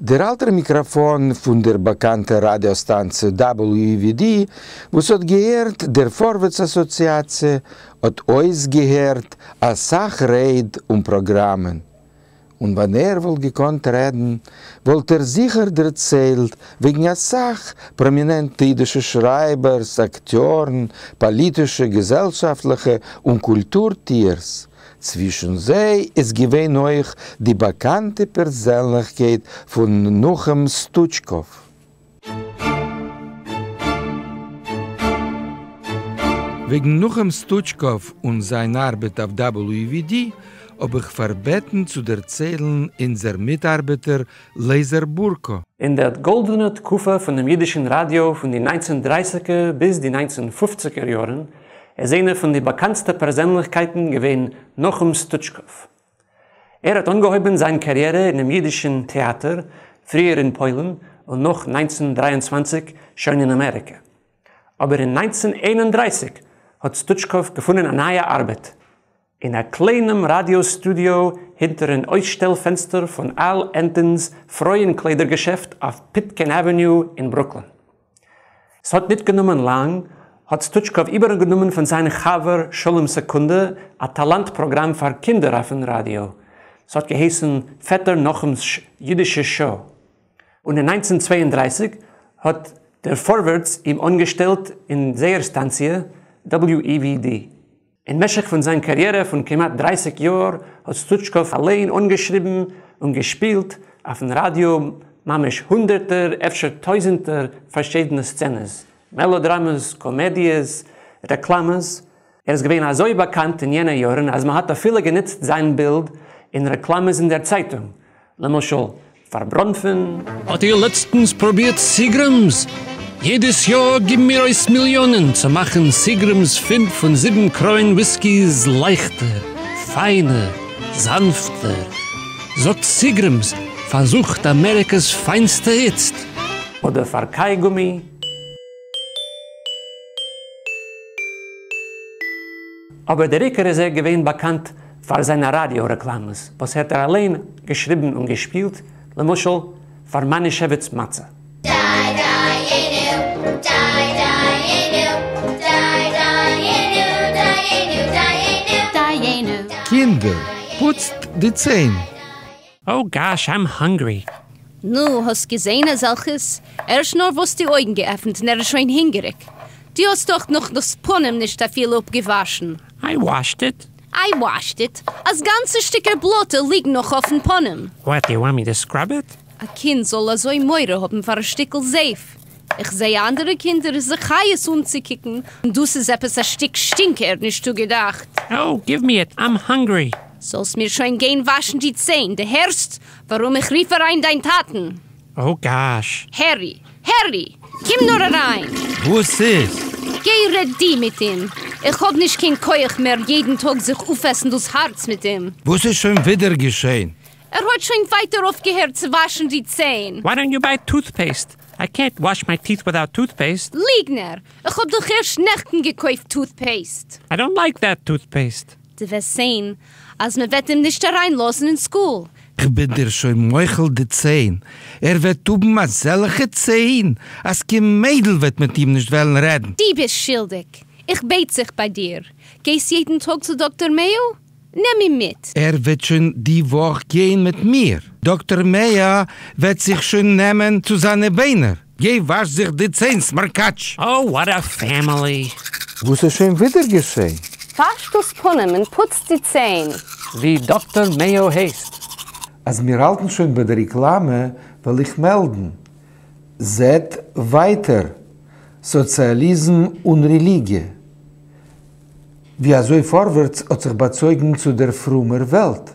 דער אלטער מיקראפאן פון דער באקאנטער ראדיא סטאנציע WEVD, וואס האט געהערט דער פארווערטס אסאציאציע, האט אויסגעהערט א סך רייד און פראגראמען. און ווען ער וואלט געקאנט רעדן, וואלט ער זיכער דערציילט וועגן א סך פראמינענטע אידישע שרייבערס, אקטיארן, פאליטישע, געזעלשאפטליכע און קולטור טיערס. צווישן זיי איז געווען אויך די באקאנטע פערזענליכקייט פון נחום סטוטשקאוו. וועגן נחום סטוטשקאוו און זיין ארבעט אויף WEVD האב איך פארבעטן צו דערציילן אונזער מיטארבעטער לייזער בורקא. אין דער גאלדענער תקופה פון דעם יידישן ראדיא פון די ניינצן דרייסיגער ביז די ניינצן פופציגער יארן איז איינער פון די באקאנטסטע פערזענליכקייטן געווען נחום סטוטשקאוו. ער האט אנגעהויבן זיין קאריערע אינעם יידישן טעאטער, פריער אין פוילן און נאך 1923 שוין אין אמעריקע. אבער אין 1931 האט סטוטשקאוו געפונען א נייע ארבעט, אין א קליינעם ראדיא סטודיאו הינטערן אויסשטעל פענסטער פון אל ענטאן'ס פרויען קליידער געשעפט אויף פיטקעין עוועניו אין ברוקלין. ס'האט ניט גענומען לאנג, האט סטוטשקאוו איבערגענומען פון זיין חבר שלום סעקונדע א טאלאנט פראגראם פאר קינדער אויפן ראדיא. ס'האט געהייסן פעטער נחום'ס אידישע שעה. און אין 1932 האט דער פארווערטס אים אנגעשטעלט אין זייער סטאנציע WEVD. אין משך פון זיין קאריערע פון כמעט 30 יאר האט סטוטשקאוו אליין אנגעשריבן און געשפילט אויפן ראדיא ממש הונדערטער, אפשר טויזנטער פארשידענע סצענעס, מעלאדראמעס, קאמעדיעס, רעקלאמעס. ער איז געווען אזוי באקאנט אין יענע יארן אז מ'האט אפילו גענוצט זיין בילד אין רעקלאמעס אין דער צייטונג, למשל פאר בראנפן. האט איר לעצטנס פרובירט סיגרעמס? יעדעס יאר גיבן מיר אויס מיליאנען צו מאכן סיגרעמס פינף און זיבן קרוין וויסקיס לייכטער, פיינער, זאנפטער. זאגט סיגרעמס, פארזוכט אמעריקע'ס פיינסטע איצט. אדער פאר קייגומי. אבער דער עיקר איז ער געווען באקאנט פאר זיינע ראדיא רעקלאמעס וואס האט ער אליין געשריבן און געשפילט, למשל פאר מאנישעוויץ מצה. קינדער, פוצט די ציין! Oh gosh, I'm hungry. נו, האסט געזעהן אזעלכעס? ערשט נארוואס די אויגן געעפנט און ער איז שוין הונגעריג. דו האסט דאך נאך דאס פנים נישט אפילו אפגעוואשן. I washed it. I washed it? אז גאנצע שטיקער בלאטע ליגן נאך אויפן פנים. What, do you want me to scrub it? א קינד זאל אזוי מורא האבן פאר א שטיקל זייף? איך זעה אנדערע קינדער איז א חיות אנצוקוקן, און דאס איז עפעס א שטיק שטינקער, נישטא געדאכט. Oh, give me it, I'm hungry. זאלסט מיר שוין גיין וואשן די ציין, דו הערסט? ווארום איך רוף אריין דיין טאטן. Oh gosh. הערי! הערי! קום נאר אריין! וואס איז? גיי רעד דו מיט אים! איך האב נישט קיין כח מער יעדן טאג זיך אויפעסן דאס הארץ מיט אים. וואס איז שוין ווידער געשען? ער האט שוין ווייטער אויפגעהערט צו וואשן די ציין. Why don't you buy toothpaste? I can't wash my teeth without toothpaste. ליגנער! איך האב דאך ערשט נעכטן געקויפט toothpaste. I don't like that toothpaste. דו וועסט זען אז מען וועט אים נישט אריין לאזן אין סקול. כ'בין דיר שוין מוחל די ציין. ער וועט האבן אזעלכע ציין אז קיין מיידל וועט מיט אים נישט וועלן רעדן. דו ביסט שולדיג. איך בעט זיך ביי דיר. גייסט יעדן טאג צו דאקטער מעיאו? נעם אים מיט. ער וועט שוין די וואך גיין מיט מיר. דאקטער מעיא וועט זיך שוין נעמען צו זיינע ביינער. גיי וואש זיך די ציין, סמארקאטש! Oh what a family! וואס איז שוין ווידער געשען? וואש דאס פנים און פוץ די ציין. ווי דאקטער מעיאו הייסט. אז מיר האלטן שוין ביי די רעקלאמע וועל איך מעלדן. זעט ווייטער, סאציאליזם און רעליגיע. ווי אזוי פארווערטס האט זיך באצויגן צו דער פרומער וועלט.